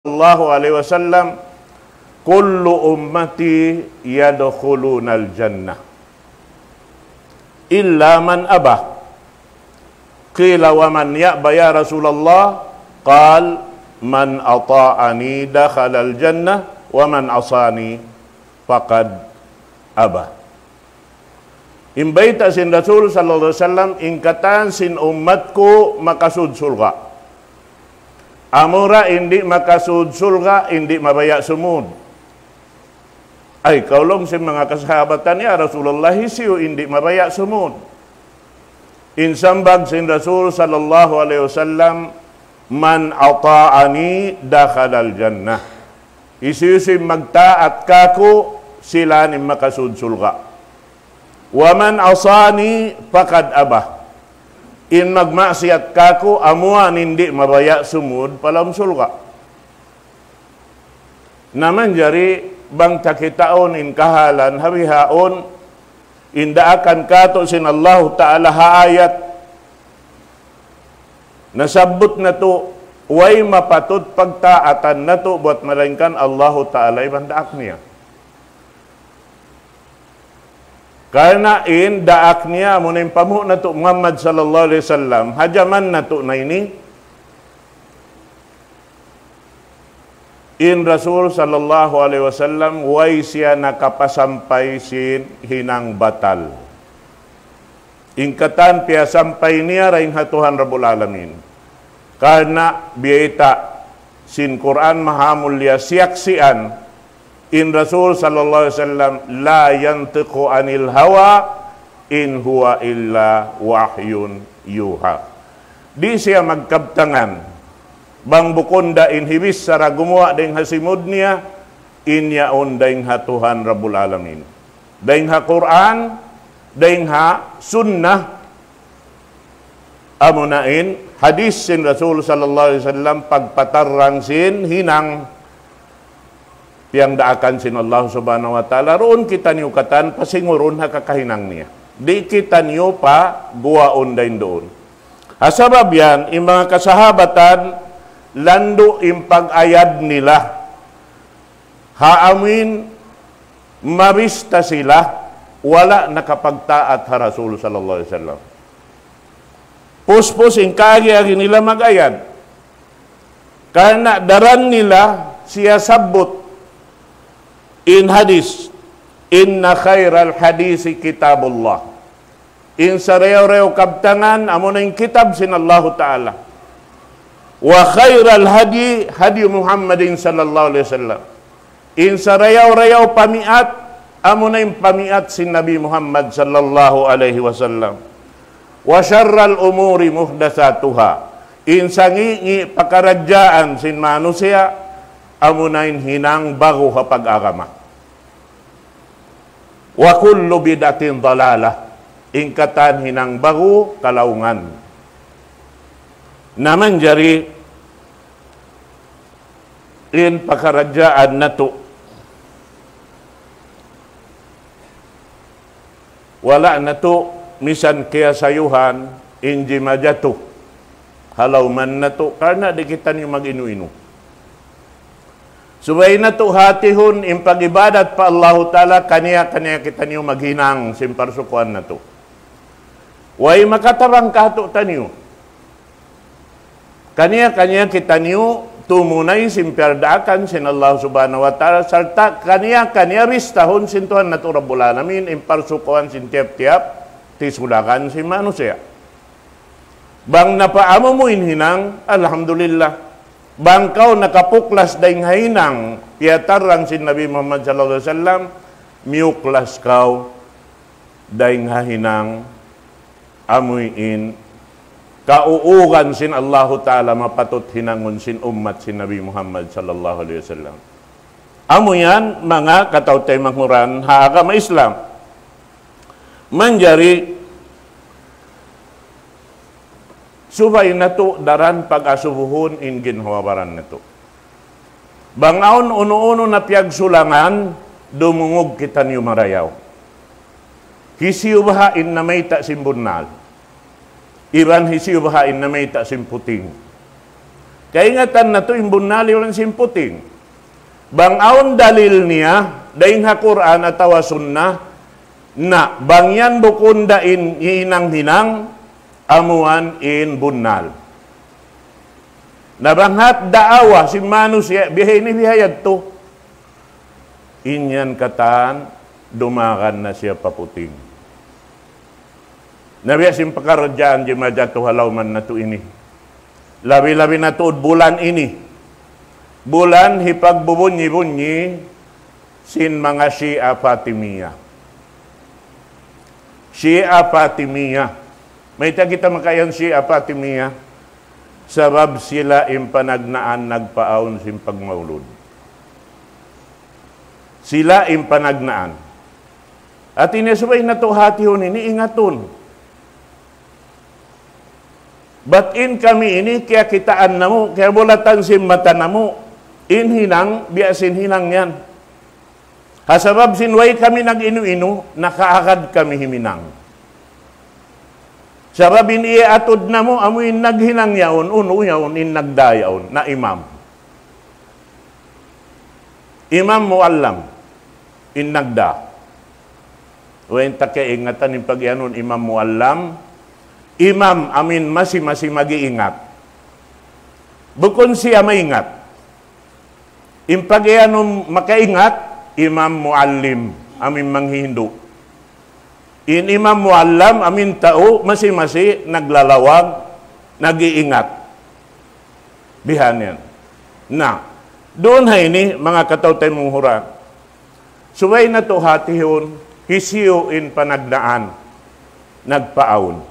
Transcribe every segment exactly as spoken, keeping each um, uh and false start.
الله عليه وسلم: كل أمتي يدخلون الجنة إلا من أبى. قيل: ومن يأبى يا رسول الله؟ قال: من أطاعني دخل الجنة ومن عصاني فقد أبى. In bayta' sin Rasul sallallahu alayhi wasallam, in katan sin ummat ku makasud surga'. Amura in di' makasud surga', in di' mabaya' sumud. Ay, kaul sin manga kasahabatan, "Ya Rasulullah, hisiyu in di' mabaya' sumud?" In sambag sin Rasul sallallahu alayhi wasallam, من أطاعني دخل الجنة. Hisiyu-siyu in magtaat kāku', sila in makasud surga'. ومن عصاني فقد أبى. In magmaksiyat kāku', amuin di' mabaya' sumud pa lawm surga'. Na manjari bang ta kitaun in kahalan ha bihaun, in daakan kātu' sin Allahu Ta'ala ha ayat, nasabbut natu', way mapatut pagtaatan natu' buwat malaingkan Allahu Ta'ala iban daak niya. Karna' in daak niya, amuna in panghu' natu' Muhammad sallallahu alayhi wasallam, ha jaman natu' na ini, in Rasul sallallahu alayhi wasallam, way siya nakapasampay sin hinang batal. In katan piyasampay niya dayn ha Tuhan Rabbul Alamin. Karna' biyayta' sin Qur'an Mahamulliya siyaksian, in Rasul sallallahu alayhi wasallam, لا ينطق عن الهوى إن هو إلا وحي يوحى. Di' siya magkabtangan, bang bukun da in hibichara gumuwa' dayn ha simud niya, in yaun dayn ha Tuhan Rabbul Alamin. Dayn ha Qur'an, dayn ha Sunnah, amuna in hadith sin Rasul sallallahu alayhi wasallam pagpatarrang sin hinang piyangdaakan sin Allah Subhanahu wa Ta'ala, duun kitaniyu katan pasingurun ha kakahinang niya. Di' kitaniyu paguwaun dayn duun. Ha sabab yan, in manga kasahabatan, landu' in pag-ayad nila. Ha amuin mabista sila, wala' nakapagtaat ha Rasul sallallahu alayhi wasallam. Puspus in kaagi-agi nila mag-ayad. Karna' daran nila siyasabbut in hadith, إن خير الحديث كتاب الله. In sarayaw-rayaw kabtangan, amuna in kitab sin Allahu Ta'ala. وخير الهدي هدي محمد صلى الله عليه وسلم. In sarayaw-rayaw pamiat, amuna in pamiat sin Nabi Muhammad sallallahu alayhi wasallam. وشر الأمور محدثاتها. In sangi'-ngi' pakaradjaan sin manusiya', amuna in hinang ba'gu ha pag-agama. وكل بدعة ضلالة. In katan hinang ba'gu kalaungan. Na manjari in pakaradjaan natu'. Wala' natu' misan kiyasayuhan in jimajatu ha lawman natu', karna' di' kitaniyu mag-inu-inu. Subay natu' hatihun in pag-ibadat pa Allahu Ta'ala, kaniya-kaniya kitaniyu maghinang sin parsukuan natu'. Way makatabang kātu'niyu. Kaniya-kaniya kitaniyu tumunay sin piyagdaakan sin Allah Subhanahu wa Ta'ala, sarta' kaniya-kaniya bistahun sin Tuhan natu' Rabbul Alamin in parsukuan sin tiyap-tiyap tisulakan sin manusiya'. Bang napaamu mu in hinang, alhamdulillah. Bang kaw nakapuklas dayn ha hinang piyatarrang sin Nabi Muhammad sallallahu alayhi wasallam, miyuklas kaw dayn ha hinang amuin kauugan sin Allahu Ta'ala mapatut hinangun sin ummat sin Nabi Muhammad sallallahu alayhi wasallam. Amu yan, manga kataw-taymanghuran ha agama Islam. Manjari, subay natu' daran pag-asubuhun in ginhawa-baran natu'. Bang awn unu-unu na piyagsulangan, dumungug kitaniyu marayaw. Hisiyu baha' in namayta' sin bunnal? Iban hisiyu baha' in namayta' sin puting? Kaingatan natu' in bunnal iban sin puting. Bang awn dalil niya, dayn ha Qur'an atawa Sunnah, na bang yan bukun da in hinang-hinang, amuan in bunnal. Na bang hat daawa sin manusiya', biha ini biha yadtu. In yan katan, dumagan na siya pa puting. Na biya' sin pakaradjaan jimajatu ha lawman natu' ini. Labi-labi na tuud bulan ini. Bulan hipagbubunyi-bunyi sin manga Shia Fatimiyah. Shia Fatimiyah. Mayta' kita makaiyan Shia Fatimiyah? Sabab sila in panagnaan nagpaawn sin pagmaulud. Sila in panagnaan. Hati niya subay natu' hatihun ini ingatun. Bat in kami ini, kiyakitaan namu', kiyabulatan sin mata namu', in hinang, biya' sin hinang yan. Ha sabab sin way kami nag-inu-inu, nakaagad kami himinang. Sabab in iyaatud namu', amu in naghinang yaun, unu yaun, in nagdā yaun, na imam. Imam Muallam, in nagdā. Way ta kaingatan in pag-iyanun Imam Muallam, imam amin masi-masi mag-iingat. Bukun siya maingat. In pag-iyanun makaingat, Imam Muallim, amin manghihindu'. In Imam Muallam, amin tau, masi-masi, naglalawag, nag-iingat. Bihan yan. Na, duun ha ini, manga kataw-taymanghuran, subay natu' hatihun, hisiyu in panagnaan, nagpaawn.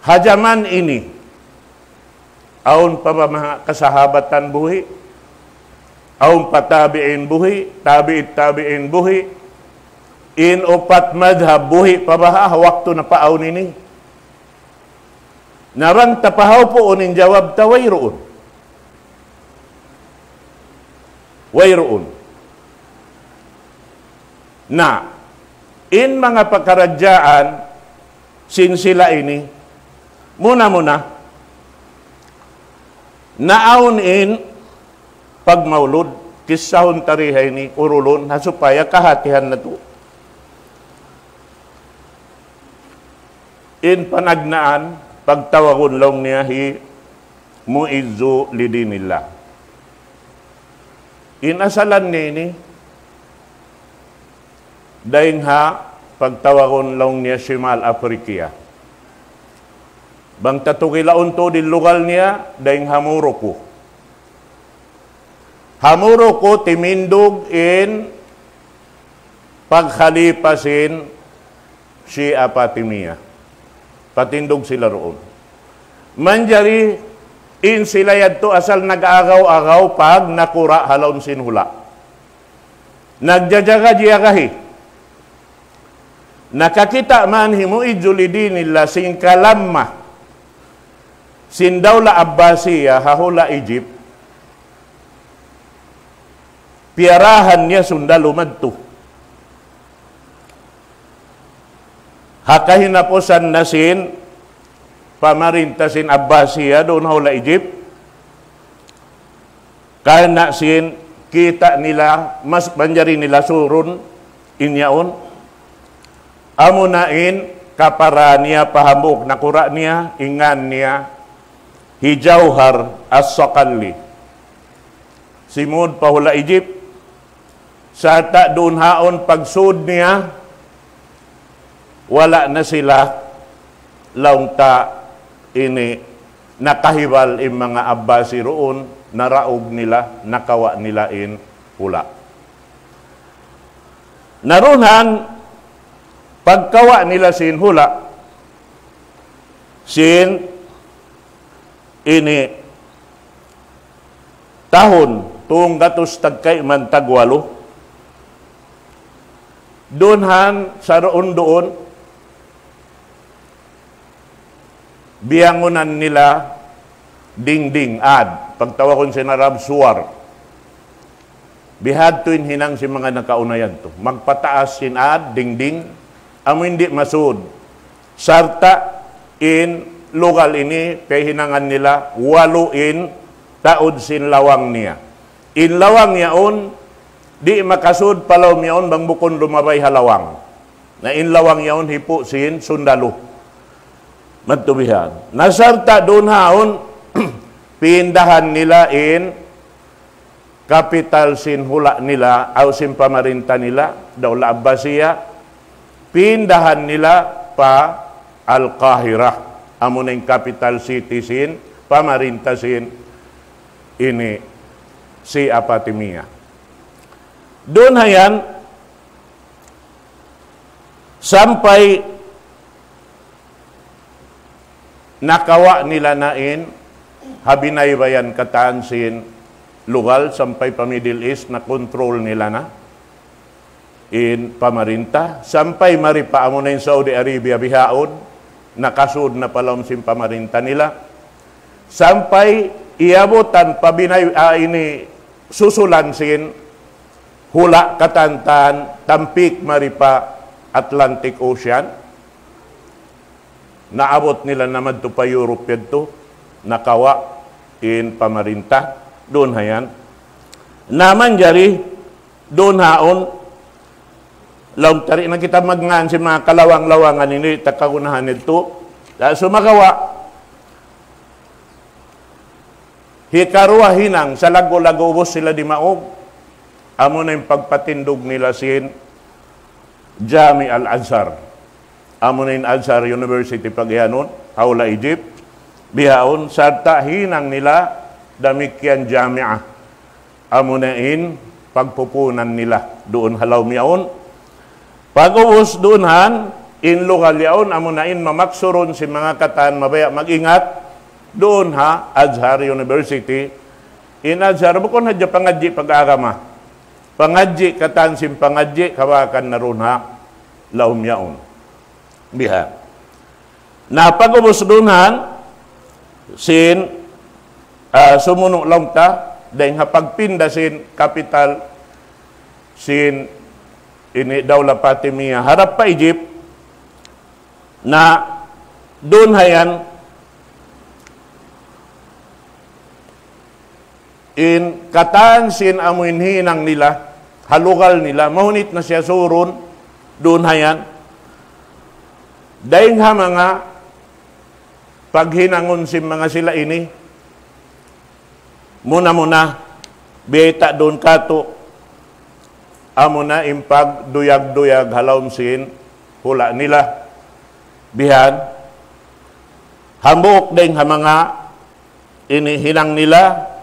Ha jaman ini, awn pa ba manga kasahabatan buhi'? Awn pa tabi'in buhi', tabi'it tabi'in buhi', in upat madhab buhi' pa baha' ha waktu napaawn ini? Na bang ta pahaupuun in jawab ta, wayruun. Wayruun. Na, in manga pakaradjaan sin sila ini, muna-muna, naawn in pagmaulud, kissahun ta di ha ini, urulun, ha supaya kahatihan natu'. In panagnaan, pagtawagun laung niya hi Mu'izzu li dinillah. In asalan niya ini, dayn ha pagtawagun laung niya Shimal Afrikiya. Bang ta tugilaun tuud in lugal niya, dayn ha Morocco. Ha Morocco, timindug in pagkhalipa sin Shia Fatimiyah. Patindug sila duun. Manjari in sila yadtu asal nag-agaw-agaw pag nakura' ha lawm sin hula'. Nagjajaga-jiyagahi. Nakakita' man hi Mu'izzu li dinillah sin kalamma sin Dawla Abbasiyah ha hula' Egypt. Piyarahan niya sundalu madtu. Ha kahinapusan na sin pamarinta sin Abbasiyah duun ha hula' Egypt, karna' sin kita' nila, mas manjari nila surun in yaun. Amuna in kapara niya pa hambuuk nakura' niya, in ngan niya hi Jawhar As-Saqali. Simud pa hula' Egypt, sarta' duun haun pagsud niya, wala' na sila laung ta ini nakahibal in manga Abbasi duun, naraug nila, nakawa' nila in hula'. Na duun han pagkawa' nila sin hula', sin ini tahun tunggatus tagkayman tagwalu. Duun han sa duun-duun, biyangunan nila dingding, ad. Pagtawagun sin Arab, suwar. Bihadtu in hinang sin manga nakauna yadtu. Magpataas sin ad, dingding, amu in di' masud. Sarta' in lugal ini, piyaghinangan nila, walu in taud sin lawang niya. In lawang yaun, di' makasud pa lawm yaun bang bukun lumabay ha lawang. Na in lawang yaun hipu' sin sundalu. Madtu bihan. Na sarta' duun haun, pindahan nila in kapital sin hula' nila, aw sin pamarinta nila, Dawla Abbasiya, pindahan nila pa Al-Qahira. Amu na in capital city sin, pamarinta sin, ini, Shia Fatimiyya. Duun hayan, sampay nakawa' nila na in, ha binaybayan katan sin lugal sampay pa Middle East na control nila na in pamarinta, sampay mari pa amu na in Saudi Arabia bihaun, nakasud na pa lawm sin pamarinta nila. Sampay iyabutan pa binay-, ah, ini susulan sin hula' katantan tampik mari pa Atlantic Ocean. Naabut nila na madtu pa Europe yadtu, nakawa' in pamarinta, duun hayan. Na manjari, duun haun, laung ta di' na kita magngan sin manga kalawang-lawangan ini, ta kagunahan yadtu. Da sumagawa', hikaruwa hinang, salaggu'-laggu' ubus sila dimaug, amu na in pagpatindug nila sin Jami' al-Azhar. Amu na in Azhar University pagiyanun, ha hula' Egypt. Bihaun, sarta' hinang nila damikkiyan jami'ah. Amu na in pagpupunan nila duun ha lawm yaun. Pag'ubus duun han, in lugal yaun, amu na in mamaksurun sin manga katan mabaya' mag-ingat, duun ha Azhar University. In Azhar, bukun hadja pangadji' pag-agama. Pangadji' katan sin pangadji', kabakan na duun ha lawm yaun. Biha. Na pag'ubus duun han, sin, ah, sumunu' laung ta, dayng ha pagpinda sin kapital, sin ini Dawla Fatimiyya, harap pa Egypt, na duun hayan, in katan sin amu in hinang nila, ha lugal nila, mahunit na siya surun, duun hayan. Dayng ha manga paghinangun sin manga sila ini, muna-muna, biyayta' duun katu', amu na in pagduyag-duyag ha lawm sin hula' nila. Bihan, hambuuk dayng ha manga ini hinang nila,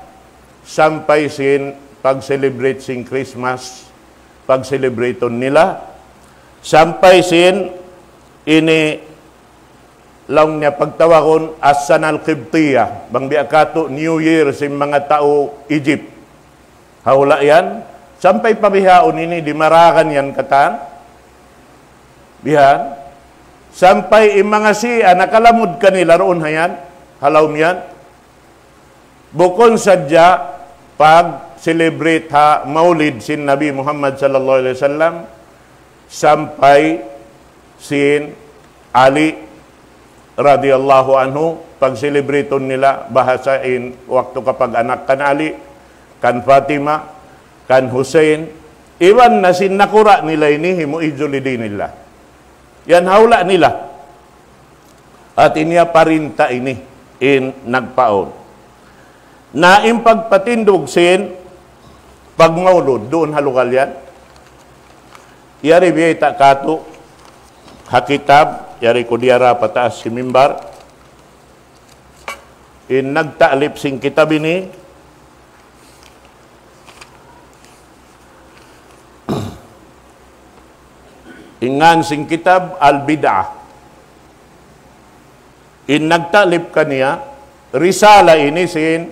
sampay sin pag-celebrate sin Christmas, pag-celebrate nila, sampay sin ini laung niya pagtawagun As-Sana Al-Qibtiyya, bang biya' katu' New Year sin manga tau Egypt. Ha hula' yan, sampay pa bihaun ini dimaragan yan katan. Bihan, sampay in manga Shia nakalamud kanila duun hayan, ha lawm yan. Bukun sadja pag-celebrate ha Maulid sin Nabi Muhammad sallallahu alayhi wasallam, sampay sin Ali radiyallahu anhu, pag-celebrate nila bahasa in waktu kapag-anak kan Ali, kan Fatima, kan Hussein, iban na sin nakura' nila ini himu ijul li dinillah. Yan ha hula' nila. Hati niya parinta ini in nagpaun. Na in pagpatindug sin pagmaulud duun ha lugal yan. Yari biyayta' katu' ha kitab, yari ku diyara pa taas sin mimbar. In nagta'lif sin kitab ini, in ngan sin kitab Al-Bid'ah. In nagta'lif kaniya, risala ini sin